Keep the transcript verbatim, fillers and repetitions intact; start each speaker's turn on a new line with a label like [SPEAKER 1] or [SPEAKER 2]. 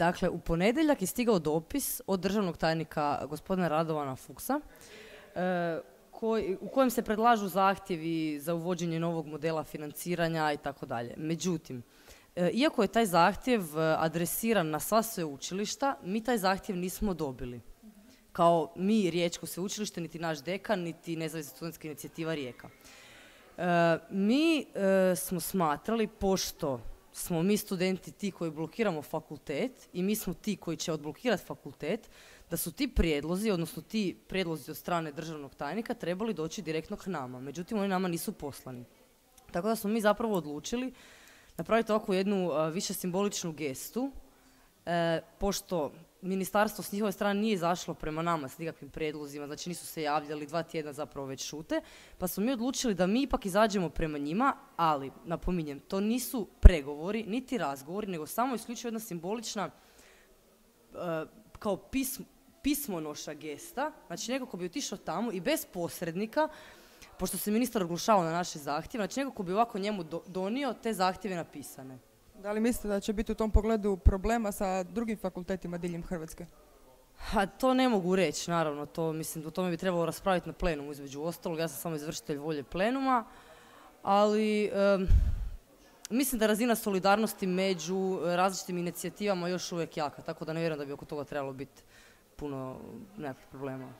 [SPEAKER 1] Dakle, u ponedjeljak je stigao dopis od državnog tajnika gospodina Radovana Fuchsa, e, Koji, u kojem se predlažu zahtjevi za uvođenje novog modela financiranja i tako dalje. Međutim, e, iako je taj zahtjev adresiran na sva sveučilišta, mi taj zahtjev nismo dobili. Kao mi Riječko sveučilište, niti naš dekan, niti Nezavisna studentska inicijativa Rijeka. E, mi e, smo smatrali, pošto smo mi studenti ti koji blokiramo fakultet i mi smo ti koji će odblokirati fakultet, da su ti prijedlozi, odnosno ti prijedlozi od strane državnog tajnika trebali doći direktno k nama. Međutim, oni nama nisu poslani. Tako da smo mi zapravo odlučili napraviti ovakvu jednu uh, više simboličnu gestu, e, pošto ministarstvo s njihove strane nije izašlo prema nama s nikakvim prijedlozima, znači nisu se javljali, dva tjedna zapravo već šute, pa smo mi odlučili da mi ipak izađemo prema njima, ali, napominjem, to nisu pregovori, niti razgovori, nego samo isključivo jedna simbolična uh, kao pismo, pismonoša gesta, znači neko ko bi otišao tamo i bez posrednika, pošto se ministar oglušavao na naše zahtjeve, znači neko ko bi ovako njemu do, donio te zahtjeve napisane.
[SPEAKER 2] Da li mislite da će biti u tom pogledu problema sa drugim fakultetima diljem Hrvatske?
[SPEAKER 1] A to ne mogu reći, naravno, to, mislim, o tome bi trebalo raspraviti na plenumu između ostalog, ja sam samo izvršitelj volje plenuma, ali um, mislim da razina solidarnosti među različitim inicijativama još uvijek jaka, tako da ne vjerujem da bi oko toga trebalo biti puno nekakvih problema.